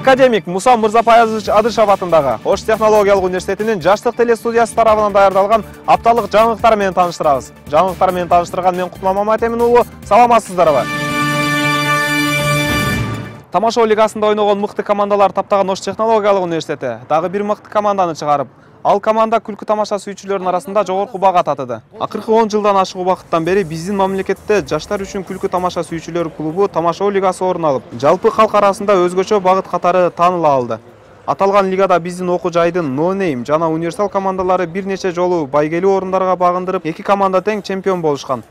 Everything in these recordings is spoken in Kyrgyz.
Академик Муса Мырзапаевич Адышев атындагы Ош технологиялык университетинин жаштык телестудиясы тарабынан даярдалган апталык жаңылыктар менен тааныштырабыз. Жаңылыктар менен тааныштырган мен Кутман Маматемин уулу. Саламатсыздарбы? Тамашоо лигасында ойногон мыкты командалар таптаган Ош технологиялык университети дагы бир мыкты команданы чыгарып, ал команда күлкү тамаша сүйүүчүлөрдүн арасында жогорку бага татыды. Акыркы 10 жылдан ашык убакыттан бери биздин мамлекетте жаштар үчүн күлкү тамаша сүйүүчүлөр клубу тамашоо лигасы орун алып, жалпы калк арасында өзгөчө багыт катары тааныла алды. Аталган лигада биздин окуу жайдын No Name жана Универсал командалары бир нече жолу байгелүү орундарга багындырып, 2 команда тең чемпион болушкан.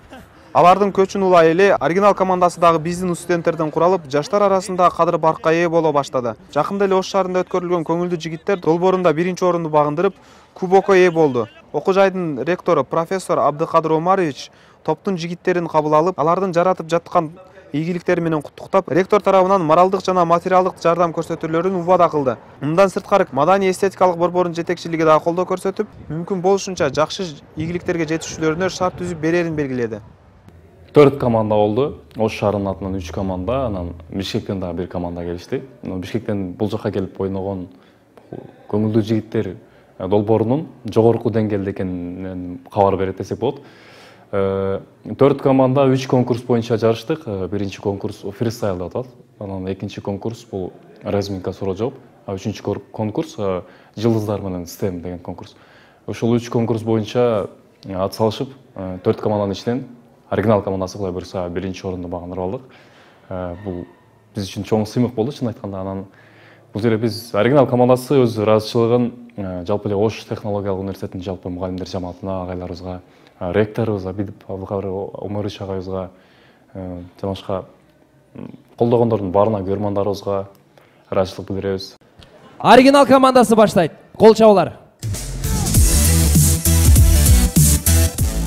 Алардын көчүн улай эле оригинал командасы дагы биздин студенттерден куралып, жаштар арасында кадыр баркка ээ боло баштады. Жакында эле Ош шаарында өткөрүлгөн көңүлдүү жигиттер долбоорунда 1-чи орунду багындырып, кубокко ээ болду. Окуу жайдын ректору профессор Абдыкадыр Омарович топтун жигиттерин кабыл алып, алардын жаратып жаткан ийгиликтери менен куттуктап, ректор тарабынан моралдык жана материалдык жардам көрсөтүүлөрүн убада кылды. Мындан сырткары маданий эстетикалык борбордун жетекчилиги дагы колдоо көрсөтүп, мүмкүн болушунча жакшы ийгиликтерге жетишүүлөрүнө шарт түзүп берерин белгиледи. 4 команда болду. Ош шаарынын атынан 3 команда, анан Бишкектен дагы 1 команда келишти. Бишкектен бул жака келип ойногон көңүлдүү жигиттер долбоорунун жогорку деңгээлде экенин кабар берет десек болот. 4 команда 3 конкурс боюнча жарыштык. Биринчи конкурс фристайл деп аталат. Анан экинчи конкурс бул разминка суроо жооп. Үчүнчү конкурс жылдыздар менен STEM деген конкурс. Ошол 3 конкурс боюнча ат салышып, 4 команданын ичинен оригинал командасы кылай буюрса 1-чи орунду багындырып алдык. Бул биз үчүн чоң сыймык болду, чын айтканда. Анан бул жерде биз оригинал командасы өз ыраазычылыгын жалпы эле Ош технологиялык университетинин жалпы мугалимдер жамаатына, агайларыбызга, ректорубузга, Бидип Абдыкадыр Омарович агайыбызга, жана башка колдогондордун баарына, көрмандарыбызга ыраазычылык билдиребиз. Оригинал командасы баштайт. Кол чабуулар.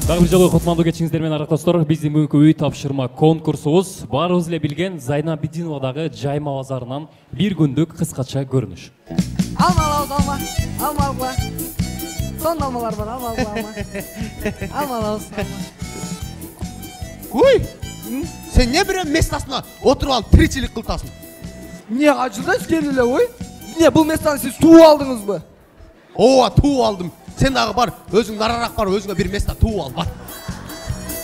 Дагы бир жолу кутмандуу кечиңиздер менен аракташтар. Биздин бүгүнкү үй тапшырма конкурсубуз баарыбыз эле билген Зайна Бидиновадагы Жайма базарынан бир күндүк кыскача көрүнүш. Алма. Сон алмалар бар, алма. Ой! Сен не бирөө местасына отуруп алып тиричилик кылтасың? Не ажылдайсыз келип эле, ой? Не бул местаны сиз тууп алдыңызбы? Ооба, тууп алдым. Сен дагы бар, өзүң нарараак бар, өзүңө бир места тууп ал, бар.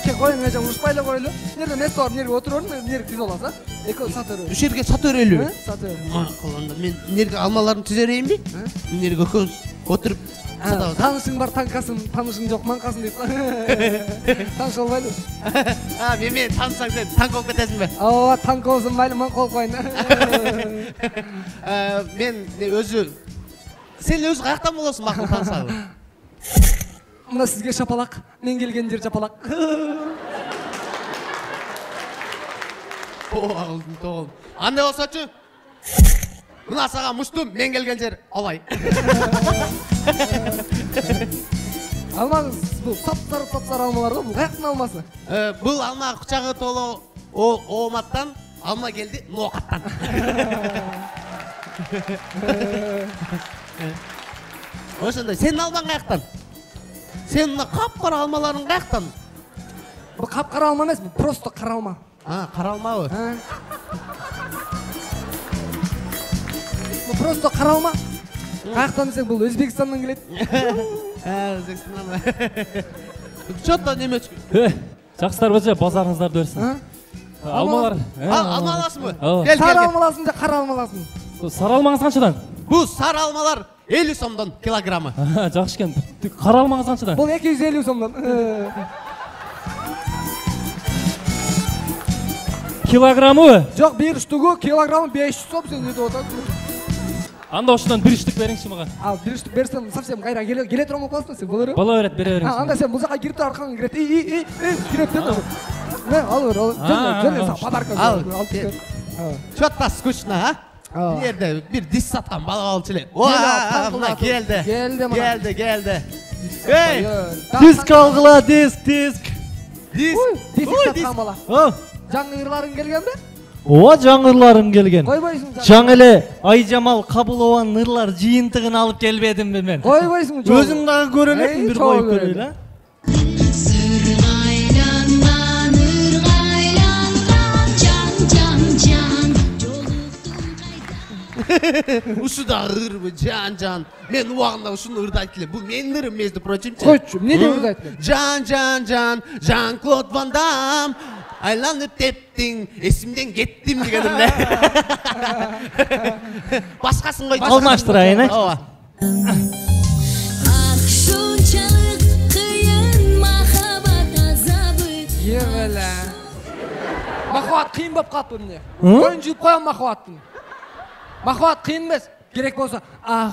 Коюң, эже урушпай эле коелу. Нерде места бар, нерге отурорун, нерге тиз аласыз, а? Эко сат өрөбүз. Ушул жерге сат өрөлүбү? Сат өрөлүбүз. Макул, мен нерге алмаларымды тиз өрөйүнбү? Нерге экөөбүз отуруп сатабыз. Таанышың бар, танкасын, таанышың жок, манкасын дейт. Тааныш албайлы. Мен таанышсаң сен танк болуп кетесиңби? Ооба, танк болсун майлы, манка болуп коеюн. Мен өзү сен өзү каяктан болосуң, макул таанышалы? Мына сизге шапалак, мен келген жер жапалак. Тоғыл. Андай болсочу? Мына сага муштум, мен келген жер алай. Алмаңыз, бул сап-сары алмалар го, бул каяктын алмасы? Бул алма кучагы толо ооматтан, алма келди ноокаттан. Ошондой, сенин алмаң каяктан? Сен мына капкара алмаларың каяктан? Бул капкара алма эмес, бул просто кара алма. Кара алмабы? Бул просто кара алма. Каяктан десең, бул Өзбекстандан келет. Өзбекстандан. Чотто немечки. Жакшысыздарбы, базарыңыздарды берсин. Алмалар. Алма аласыңбы? Сары алма аласың же кара алма аласың? Сары алмаңыз канчадан? Бул сары алмалар 50 сомдон килограммы. Жакшы экен. Кара алмаңыз канчадан? Бул 250 сомдон. Килограммы? Жок, бир штугу килограммы 500 сом, сен деп атасың. Анда ошондон бир штук бериңчи мага. Бир штук берсем, совсем кайра келе турган болуп каласың сен, болор? Боло берет, бере бериңиз. Анда сен бул жака кирип тур, аркаңа кирет. Кирет деп. Ал бер, жөн подарка алып кет. Чотто скучно, а? Бул жерде бир дис саткан бала болчу эле. Мына келди. Келди. Эй! Диск алгыла, диск. Диск саткан бала. Жаңы ырларың келгенби? Ооба, жаңы ырларым келген. Койбойсуң. Жаңы эле Айжамал Кабылованын ырлар жыйынтыгын алып келбедимби мен? Койбойсуң. Өзүң дагы көрө элесиң, бир коюп көрөйлү. Ушу да ырбы, жан. Мен убагында ушуну ырдайт элем. Бул менин ырым, между прочим. Койчу, эмне деп ырдайт элем? Жан-Клод Ван Дам. Айланып тептиң, эсимден кеттим деген эле. Башкасын койчу. Алмаштырайын, э? Ооба. Акшунчалык кыйын махаббат азабы. Евеле. Махаббат кыйын болуп калыппы эмне? Коюн жууп коем махаббаттын. Махаббат кыйын эмес. Керек болсо,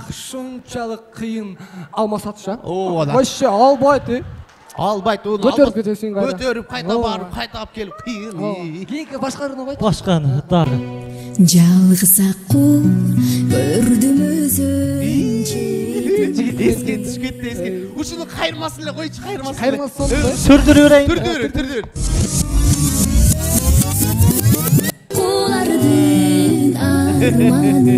ушунчалык кыйын алмасатшы, а? Ооба. Вообще албайт. Албайт, уну Көтөрүп кетесиң кайда. Көтөрүп, кайта барып, кайта алып келип кыйын. Кийинки башкарууну койчу. Башканы дагы. Жалгыз акку көрдүм өзүнчө. Эске түшкөт эске. Ушуну кайырмасын эле койчу, кайырмасын. Кайырмасын. Сүрдүрүп берейин. Түрдүр. Кулардын арманы.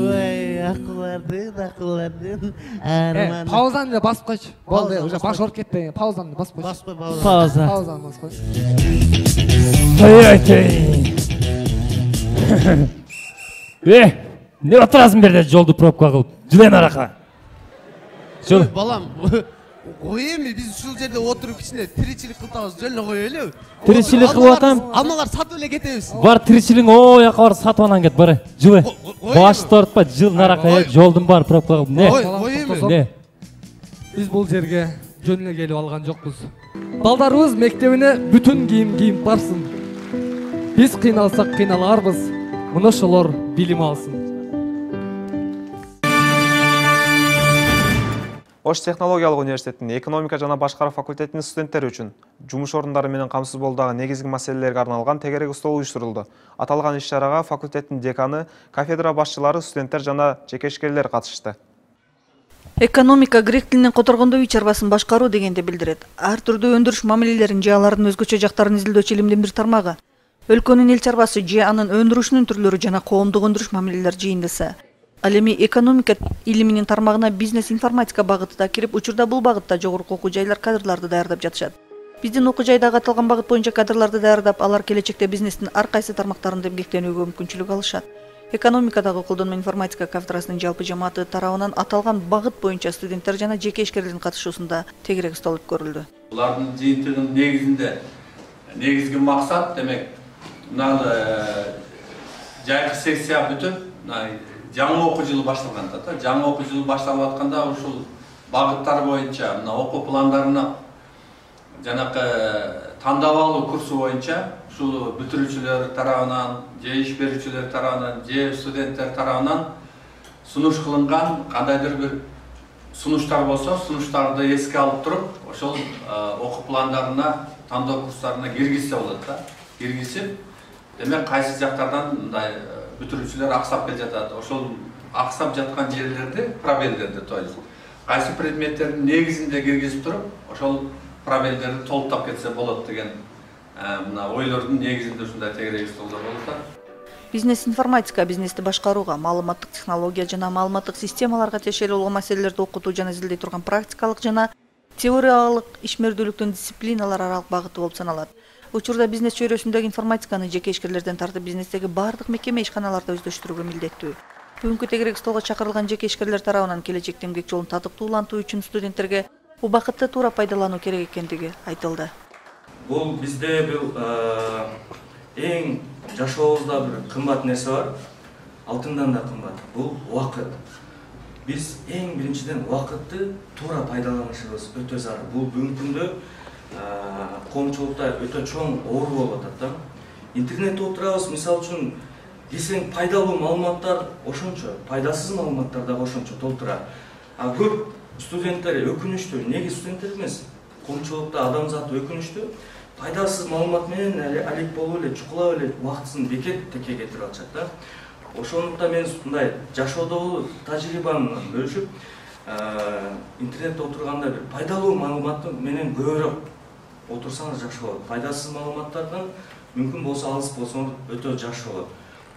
Ой, акулардын арманы. Паузаны да басып койчу. Болду, уже баш ооруп кетпейин. Паузаны басып койчу. Баспай пауза. Пауза. Паузаны басып койчу. Не отурасың берде жолду пробка кылып? Жылен арака. Ой, балам. Ой эми биз ушул жерде отуруп кичине тиричилик кылтабыз, жөн коелу. Тиричилик кылып атам. Алмалар сатып эле кетебиз. Бар тиричилиң о жака бар сатып анан кет бары. Жылы. Башты тартпа, жыл наракка жолдун бар пробка кылып. Не? Ой эми. Не? Биз бул жерге жөн эле келип алган жокпуз. Балдарыбыз мектебине бүтүн кийим кийип барсын. Биз кыйналсак кыйналарбыз. Мына ошолор билим алсын. Ош технологиялык университетинин экономика жана башкаруу факультетинин студенттери үчүн жумуш орундары менен камсыз болуудагы негизги маселелерге арналган тегерек стол уюштурулду. Аталган иш-чарага факультеттин деканы, кафедра башчылары, студенттер жана жекешкерлер катышты. Экономика грек тилинен которгондо үй чарбасын башкаруу дегенди билдирет. Ар түрдүү өндүрүш мамилелерин же алардын өзгөчө жактарын изилдөөчү илимдин бир тармагы. Өлкөнүн эл чарбасы же анын өндүрүшүнүн түрлөрү жана коомдук өндүрүш мамилелер жыйындысы. Ал эми экономика илиминин тармагына бизнес информатика багыты да кирип, учурда бул багытта жогорку окуу жайлар кадрларды даярдап жатышат. Биздин окуу жайдагы аталган багыт боюнча кадрларды даярдап, алар келечекте бизнестин ар кайсы тармактарында эмгектенүүгө мүмкүнчүлүк алышат. Экономикадагы колдонмо информатика кафедрасынын жалпы жамааты тарабынан аталган багыт боюнча студенттер жана жеке ишкерлердин катышуусунда тегерек стол өткөрүлдү. Булардын жыйынтыгынын негизинде негизги максат демек жайкы секция бүтүп, жаңы окуу жылы башталганда да, жаңы окуу жылы башталып атканда ушул багыттар боюнча мына окуу пландарына жанакы тандап алуу курсу боюнча ушул бүтүрүүчүлөр тарабынан, же иш берүүчүлөр тарабынан, же студенттер тарабынан сунуш кылынган кандайдыр бир сунуштар болсо, сунуштарды эске алып туруп, ошол окуу пландарына, тандоо курстарына киргизсе болот да. Киргизип, демек кайсы жактардан мындай бүтүрүүчүлөр аксап кел жатат. Ошол аксап жаткан жерлерди, пробелдерди, то есть кайсы предметтердин негизинде киргизип туруп, ошол пробелдерди толуктап кетсе болот деген мына ойлордун негизинде ушундай тегерек столдор болуп атат. Бизнес информатика бизнести башкарууга, маалыматтык технология жана маалыматтык системаларга тиешелүү болгон маселелерди окутуу жана изилдей турган практикалык жана теориялык ишмердүүлүктүн дисциплиналар аралык багыты болуп саналат. Учурда бизнес чөйрөсүндөгү информатиканы жеке ишкерлерден тартып бизнестеги бардык мекеме ишканаларда өздөштүрүүгө милдеттүү. Бүгүнкү тегерек столго чакырылган жеке ишкерлер тарабынан келечекте эмгек жолун татыктуулантуу үчүн студенттерге убакытты туура пайдалануу керек экендиги айтылды. Бул бизде бул эң жашообузда бир кымбат нерсе бар. Алтындан да кымбат. Бул убакыт. Биз эң биринчиден убакытты туура пайдаланышыбыз өтө зарыл. Бул бүгүнкү күндө коомчулукта өтө чоң оору болуп атат да. Интернетте отурабыз, мисалы үчүн десең пайдалуу маалыматтар ошончо, пайдасыз маалыматтар да ошончо толтура. Көп студенттер өкүнүштүү, неге студенттер эмес, коомчулукта адамзат өкүнүштүү, пайдасыз маалымат менен алек болуп эле, чукулап эле убактысын бекет-теке кетирип атышат да. Ошондуктан мен мындай жашоодогу тажрыйбамды бөлүшүп, интернетте отурганда бир пайдалуу маалымат менен көбүрөөк отурсаңыз жакшы болот. Пайдасыз маалыматтардан мүмкүн болсо алыс болсоңуз өтө жакшы болот.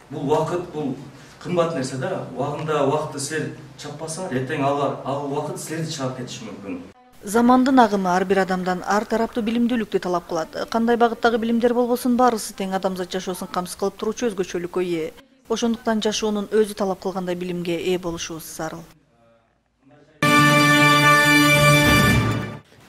Бул убакыт, бул кымбат нерсе да. Убагында убакытты силер чаппасаңар, эртең ал убакыт силерди чаап кетиши мүмкүн. Замандын агымы ар бир адамдан ар тараптуу билимдүүлүктү талап кылат. Кандай багыттагы билимдер болбосун, баарысы тең адамзат жашоосун камсыз кылып туруучу өзгөчөлүккө ээ. Ошондуктан жашоонун өзү талап кылгандай билимге ээ болушубуз зарыл.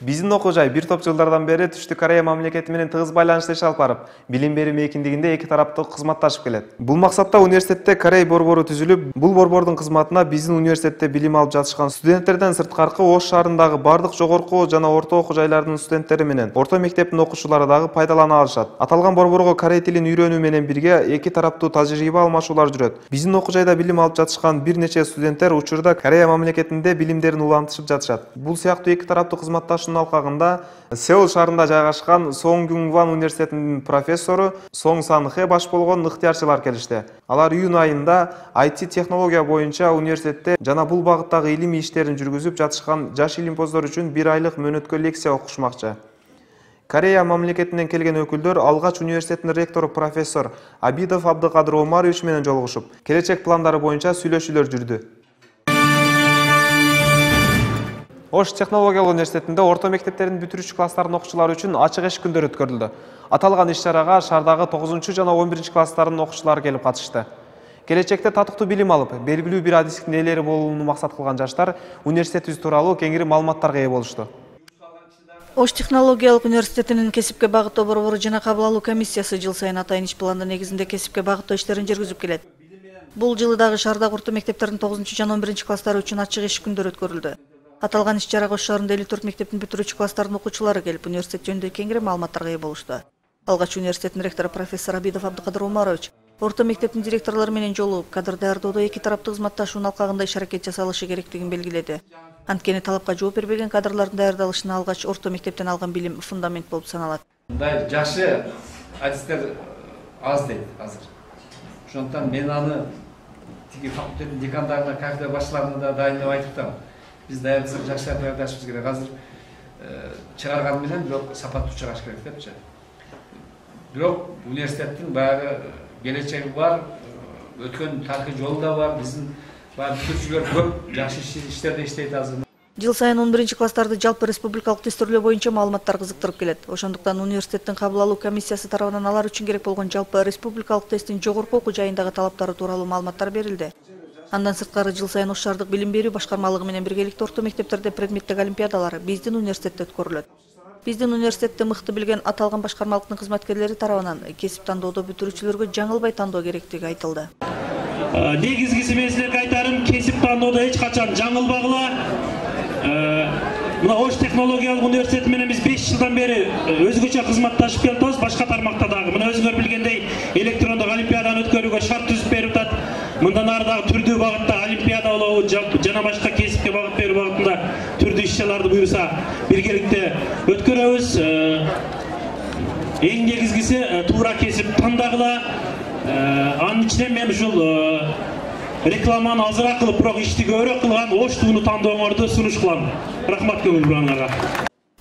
Биздин окуу жай бир топ жылдардан бери Түштүк Корея мамлекети менен тыгыз байланышта иш алып барып, билим берүү мейкиндигинде эки тараптуу кызматташып келет. Бул максатта университетте Корей борбору түзүлүп, бул борбордун кызматына биздин университетте билим алып жатышкан студенттерден сырткаркы Ош шаарындагы бардык жогорку жана орто окуу жайлардын студенттери менен орто мектептин окуучулары дагы пайдалана алышат. Аталган борборго корей тилин үйрөнүү менен бирге эки тараптуу тажрыйба алмашуулар жүрөт. Биздин окуу жайда билим алып жатышкан бир нече студенттер учурда Корея мамлекетинде билимдерин улантышып жатышат. Бул сыяктуу эки тараптуу кызматташуунун алкагында Сеул шаарында жайгашкан Сонгюнгван университетинин профессору Сонг Сан Хэ баш болгон ыктыярчылар келишти. Алар июнь айында IT технология боюнча университетте жана бул багыттагы илимий иштерин жүргүзүп жатышкан жаш илимпоздор үчүн 1 айлык мөөнөткө лекция окушмакчы. Корея мамлекетинен келген өкүлдөр алгач университеттин ректору профессор Абидов Абдыкадыр Омарович менен жолугушуп, келечек пландары боюнча сүйлөшүүлөр жүрдү. Ош технологиялык университетинде орто мектептердин бүтүрүүчү класстардын окуучулары үчүн ачык эшик күндөрү өткөрүлдү. Аталган иш-чарага шаардагы 9 жана 11 класстардын окуучулары келип катышты. Келечекте татыктуу билим алып, белгилүү бир адистиктин ээлери болууну максат кылган жаштар университетибиз тууралуу кеңири маалыматтарга ээ болушту. Ош технологиялык университетинин кесипке багыттоо борбору жана кабыл алуу комиссиясы жыл сайын атайын иш пландын негизинде кесипке багыттоо иштерин жүргүзүп келет. Бул жылы дагы шаардагы орто мектептердин 9 жана 11 класстары үчүн ачык эшик күндөрү өткөрүлдү. Аталган иш-чарага Ош шаарында 54 мектептин бүтүрүүчү класстардын окуучулары келип, университет жөнүндө кеңири маалыматтарга ээ болушту. Алгач университеттин ректору профессор Абидов Абдыкадыр Омарович орто мектептин директорлору менен жолугуп, кадр даярдоодо эки тараптуу кызматташуунун алкагында иш-аракет жасалышы керектигин белгиледи. Анткени талапка жооп бербеген кадрлардын даярдалышына алгач орто мектептен алган билим фундамент болуп саналат. Мындай жакшы адистер аз дейт азыр. Ошондуктан мен аны тиги факультеттин декандарына, кафедра башчыларына да дайындап айтып атам. Биз даярдасак жакшы даярдашыбыз керек. Азыр чыгарган менен бирок сапаттуу чыгарыш керек депчи. Бирок университеттин баягы келечеги бар, өткөн тарыхый жолу да бар. Биздин баягы бүтүрүүчүлөр көп жакшы иштерде иштейт азыр. Жыл сайын 11 класстарды жалпы республикалык тестөөлөө боюнча маалыматтар кызыктырып келет. Ошондуктан университеттин кабыл алуу комиссиясы тарабынан алар үчүн керек болгон жалпы республикалык тесттин жогорку окуу жайындагы талаптары тууралуу маалыматтар берилди. Андан сырткары жыл сайын Ош шаардык билим берүү башкармалыгы менен биргеликте орто мектептерде предметтик олимпиадалар биздин университетте өткөрүлөт. Биздин университетти мыкты билген аталган башкармалыктын кызматкерлери тарабынан кесип тандоодо бүтүрүүчүлөргө жаңылбай тандоо керектиги айтылды. Негизгиси мен силерге айтарым, кесип тандоодо эч качан жаңылбагыла. Мына Ош технологиялык университети менен биз 5 жылдан бери өзгөчө кызматташып келатабыз, башка тармакта дагы. Мына өзүңөр билгендей электрондук олимпиаданы өткөрүүгө шарт түзүп берип атат. Мындан ары дагы түрдүү багытта олимпиада болобу жана башка кесипке багыт берүү багытында түрдүү иш-чараларды буюрса биргеликте өткөрөбүз. Эң негизгиси туура кесип тандагыла. Анын ичинен мен ушул рекламаны азыраак кылып, бирок ишти көбүрөөк кылган Ош тууну тандооңорду сунуш кылам. Рахмат көңүл бурандарга.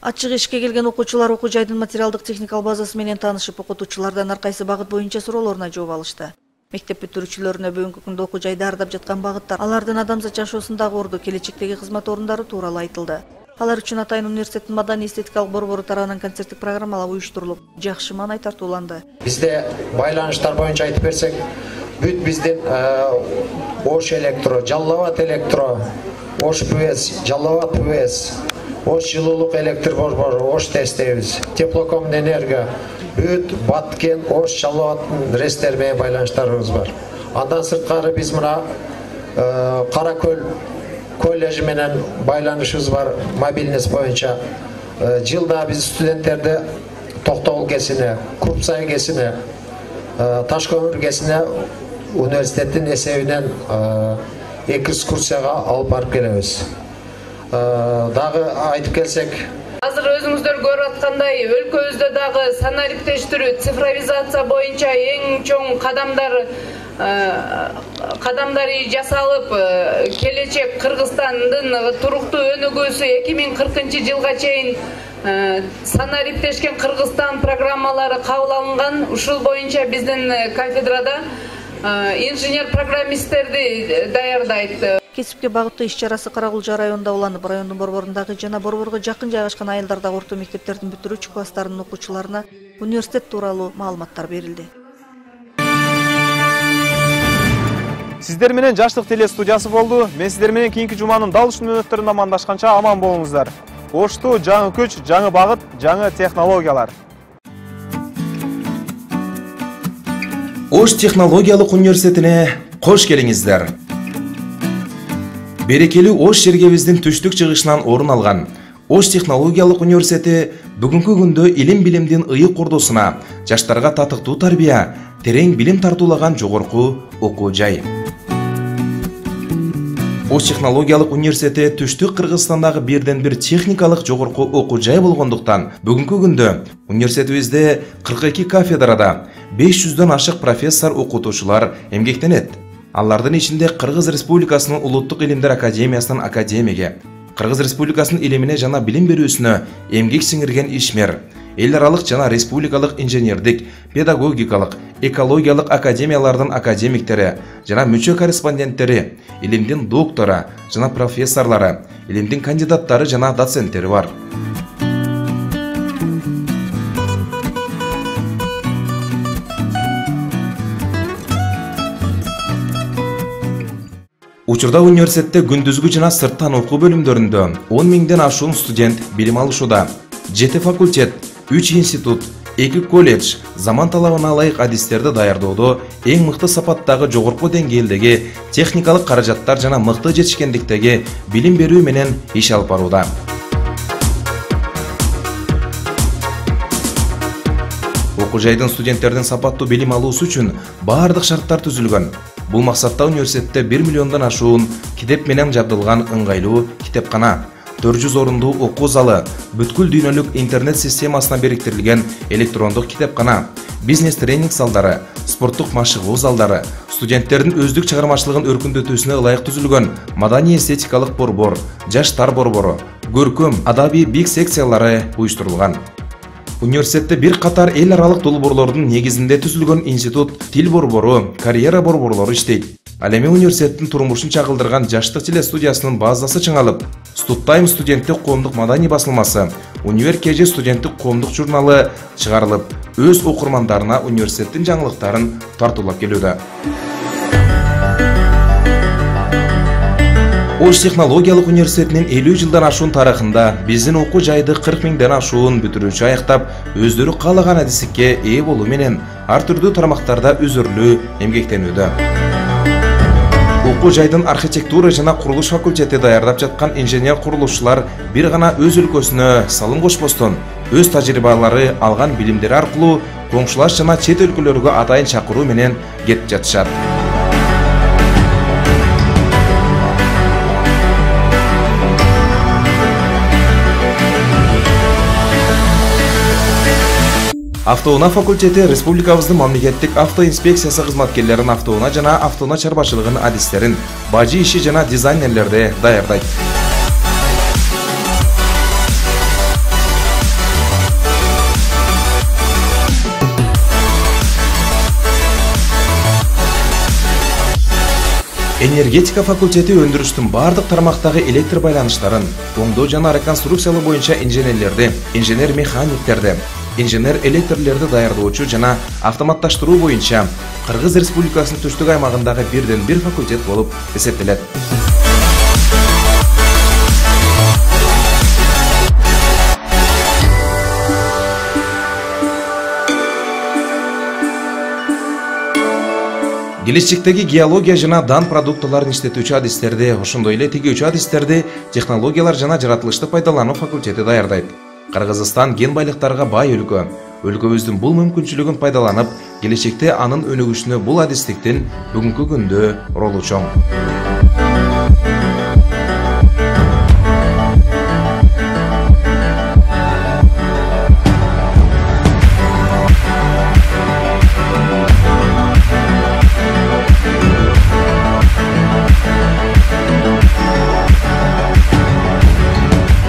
Ачык эшикке келген окуучулар окуу жайдын материалдык техникалык базасы менен таанышып, окутуучулардан ар кайсы багыт боюнча суроолоруна жооп алышты. Мектеп бүтүрүүчүлөрүнө бүгүнкү күндө окуу жай даярдап жаткан багыттар, алардын адамзат жашоосундагы орду, келечектеги кызмат орундары тууралуу айтылды. Алар үчүн атайын университеттин маданий эстетикалык борбору тарабынан концерттик программалар уюштурулуп, жакшы маанай тартууланды. Бизде байланыштар боюнча айтып берсек, бүт биздин Ош электро, Жалал-Абад электро, Ош ПВС, Жалал-Абад ПВС, Ош жылуулук электр борбору, Ош тестебиз, Теплокомэнерго, бүт Баткен, Ош, Жалал-Абадтын рестер менен байланыштарыбыз бар. Андан сырткары биз мына Кара Көл коллежи менен байланышыбыз бар, мобильность боюнча. Жылда биз студенттерди Токтогул кесине, Курпсай кесине, Ташкөмүр кесине университеттин эсебинен экскурсияга алып барып келебиз. Дагы айтып келсек, азыр өзүңүздөр көрүп аткандай, өлкөбүздө дагы санариптештирүү, цифровизация боюнча эң чоң кадамдары жасалып, келечек Кыргызстандын туруктуу өнүгүүсү 2040-жылга чейин санариптешкен Кыргызстан программалары кабыл алынган. Ушул боюнча биздин кафедрада инженер-программисттерди даярдайт. Кесипке багыттуу иш-чарасы Карагулжа районунда уланып, райондун борборундагы жана борборго жакын жайгашкан айылдардагы орто мектептердин бүтүрүүчү класстарынын окуучуларына университет тууралуу маалыматтар берилди. Сиздер менен Жаштык теле студиясы болду. Мен сиздер менен кийинки жуманын дал ушул мүнөттөрүндө амандашканча аман болуңуздар. Ошту жаңы күч, жаңы багыт, жаңы технологиялар. Ош технологиялык университетине кош келиңиздер. Берекелүү Ош жергебиздин түштүк чыгышынан орун алган Ош технологиялык университети бүгүнкү күндө илим билимдин ыйык ордосуна, жаштарга татыктуу тарбия, терең билим тартуулаган жогорку окуу жай. Ош технологиялык университети түштүк Кыргызстандагы бирден бир техникалык жогорку окуу жай болгондуктан бүгүнкү күндө университетибизде 42 кафедрада 500дөн ашык профессор окутуучулар эмгектенет. Алардын ичинде Кыргыз Республикасынын Улуттук илимдер академиясынын академиги, Кыргыз Республикасынын илимине жана билим берүүсүнө эмгек сиңирген ишмер, эл аралык жана республикалык инженердик, педагогикалык, экологиялык академиялардын академиктери жана мүчө корреспонденттери, илимдин доктору жана профессорлору, илимдин кандидаттары жана доценттери бар. Учурда университетте күндүзгү жана сырттан окуу бөлүмдөрүндө 10 миңден ашуун студент билим алышууда. 7 факультет, 3 институт, 2 колледж заман талабына ылайык адистерди даярдоодо эң мыкты сапаттагы жогорку деңгээлдеги техникалык каражаттар жана мыкты жетишкендиктеги билим берүү менен иш алып барууда. Окуу жайдын студенттердин сапаттуу билим алуусу үчүн баардык шарттар түзүлгөн. Бул максатта университетте 1 миллиондон ашуун китеп менен жабдылган ыңгайлуу китепкана, 400 орундуу окуу залы, бүткүл дүйнөлүк интернет системасына бириктирилген электрондук китепкана, бизнес тренинг залдары, спорттук машыгуу залдары, студенттердин өздүк чыгармачылыгын өркүндөтүүсүнө ылайык түзүлгөн маданий эстетикалык борбор, жаштар борбору, көркөм, адабий бик секциялары уюштурулган. Университетте бир катар эл аралык долбоорлордун негизинде түзүлгөн институт, тил борбору, карьера борборлору иштейт. Ал эми университеттин турмушун чагылдырган Жаштык теле студиясынын базасы чыңалып, Студтайм студенттик коомдук маданий басылмасы, Универ КЖ студенттик коомдук журналы чыгарылып, өз окурмандарына университеттин жаңылыктарын тартуулап келүүдө. Ош технологиялык университетинин 50 жылдан ашуун тарыхында биздин окуу жайды 40 миңден ашуун бүтүрүүчү аяктап, өздөрү каалаган адистикке ээ болуу менен ар түрдүү тармактарда үзүрлүү эмгектенүүдө. Окуу жайдын архитектура жана курулуш факультети даярдап жаткан инженер курулушчулар бир гана өз өлкөсүнө салым кошпостон, өз тажрыйбалары алган билимдери аркылуу коңшулаш жана чет өлкөлөргө атайын чакыруу менен кетип жатышат. Автоунаа факультети республикабыздын мамлекеттик автоинспекциясы кызматкерлерин автоунаа жана автоунаа чарбачылыгынын адистерин, бажы иши жана дизайнерлерди даярдайт. Энергетика факультети өндүрүштүн бардык тармактагы электр байланыштарын, оңдоо жана реконструкциялоо боюнча инженерлерди, инженер-механиктерди, инженер электрлерди даярдоочу жана автоматташтыруу боюнча Кыргыз Республикасынын түштүк аймагындагы бирден бир факультет болуп эсептелет. Келечектеги геология жана дан продуктыларын иштетүүчү адистерди, ошондой эле тигүүчү адистерди технологиялар жана жаратылышты пайдалануу факультети даярдайт. Кыргызстан ген байлыктарга бай өлкө. Өлкөбүздүн бул мүмкүнчүлүгүн пайдаланып, келечекте анын өнүгүшүнө бул адистиктин бүгүнкү күндө ролу чоң.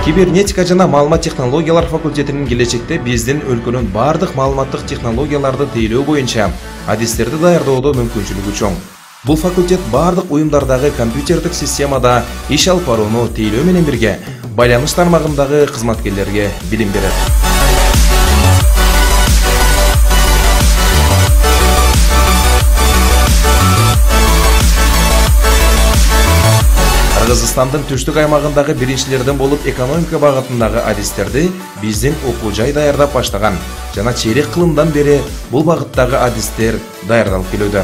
Кибернетика жана маалымат технологиялар факультетинин келечекте биздин өлкөнүн бардык маалыматтык технологияларды тейлөө боюнча адистерди даярдоодо мүмкүнчүлүгү чоң. Бул факультет бардык уюмдардагы компьютердик системада иш алып барууну тейлөө менен бирге байланыш тармагындагы кызматкерлерге билим берет. Кыргызстандын түштүк аймагындагы биринчилерден болуп экономика багытындагы адистерди биздин окуу жай даярдап баштаган жана чейрек кылымдан бери бул багыттагы адистер даярдалып келүүдө.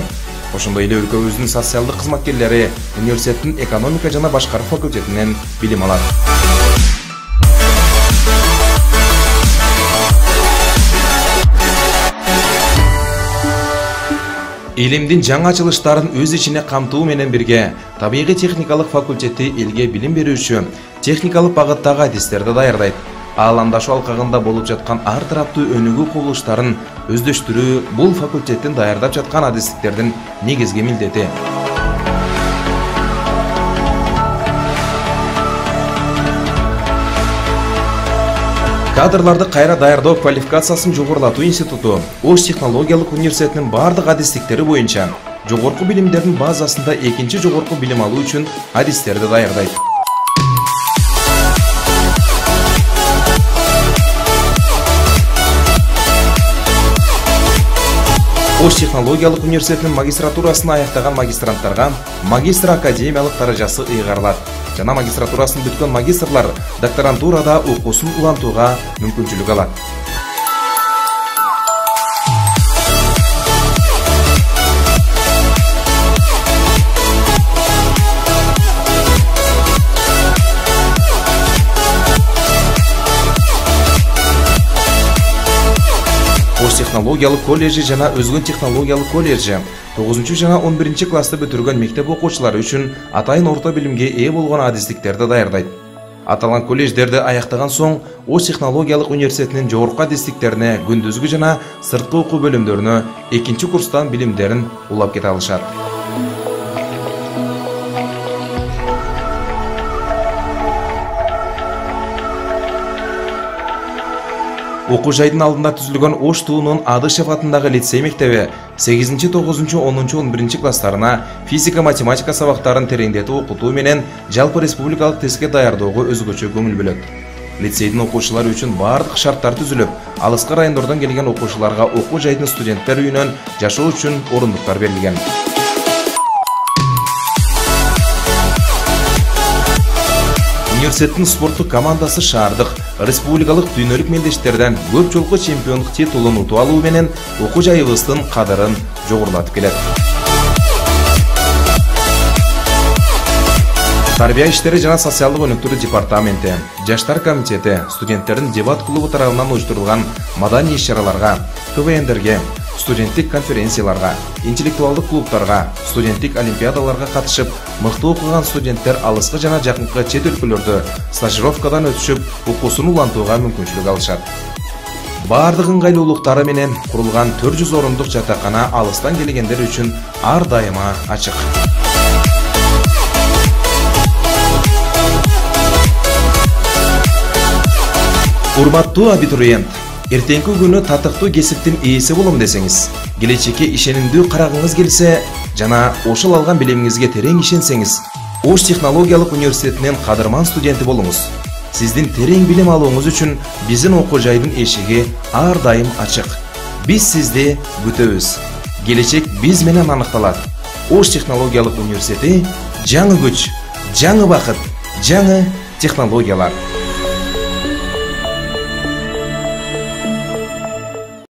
Ошондой эле өлкөбүздүн социалдык кызматкерлери университеттин экономика жана башкаруу факультетинен билим алат. Илимдин жаңы ачылыштарын өз ичине камтуу менен бирге табигый техникалык факультети элге билим берүүчү техникалык багыттагы адистерди даярдайт. Ааламдашуу алкагында болуп жаткан ар тараптуу өнүгүү кубулуштарын өздөштүрүү бул факультеттин даярдап жаткан адистиктердин негизги милдети. Кадрларды кайра даярдоо квалификациясын жогорулатуу институту Ош технологиялык университетинин бардык адистиктери боюнча жогорку билимдердин базасында экинчи жогорку билим алуу үчүн адистерди даярдайт. Ош технологиялык университетинин магистратурасын аяктаган магистранттарга магистр академиялык даражасы ыйгарылат. Жана магистратурасын бүткөн магистрлар докторантурада окуусун улантууга мүмкүнчүлүк алат. Ош технологиялык колледжи жана Өзгөн технологиялык колледжи 9 жана 11 классты бүтүргөн мектеп окуучулары үчүн атайын орто билимге ээ болгон адистиктерди даярдайт. Аталган колледждерди аяктаган соң Ош технологиялык университетинин жогорку адистиктерине күндүзгү жана сырткы окуу бөлүмдөрүнө экинчи курстан билимдерин улап кете алышат. Окуу жайдын алдында түзүлгөн Ош туунун Адышев атындагы лицей мектеби 8, 9, 10, 11 класстарына физика-математика сабактарын тереңдетип окутуу менен жалпы республикалык тестке даярдоого өзгөчө көңүл бөлөт. Лицейдин окуучулары үчүн бардык шарттар түзүлүп, алыскы райондордон келген окуучуларга окуу жайдын студенттер үйүнөн жашоо үчүн орундуктар берилген. Университеттин спорттук командасы шаардык, республикалык дүйнөлүк мелдештерден көп жолку чемпиондук титулун утуп алуу менен окуу жайыбыздын кадырын жогорулатып келет. Тарбия иштери жана социалдык өнүктүрүү департаменти, Жаштар комитети студенттердин дебат клубу тарабынан уюштурулган маданий иш-чараларга, КВНдерге, студенттик конференцияларга, интеллектуалдык клубтарга, студенттик олимпиадаларга катышып, мыкты окуган студенттер алыскы жана жакынкы чет өлкөлөрдө стажировкадан өтүшүп, окуусун улантууга мүмкүнчүлүк алышат. Бардык ыңгайлуулуктары менен курулган 400 орундук жатакана алыстан келгендер үчүн ар дайыма ачык. Урматтуу абитуриент, эртеңки күнү татыктуу кесиптин ээси болом десеңиз, келечекке ишенимдүү карагыңыз келсе жана ошол алган билимиңизге терең ишенсеңиз, Ош технологиялык университетинин кадырман студенти болуңуз. Сиздин терең билим алууңуз үчүн биздин окуу жайдын эшиги ар дайым ачык. Биз сизди күтөбүз. Келечек биз менен аныкталат. Ош технологиялык университети — жаңы күч, жаңы бакыт, жаңы технологиялар.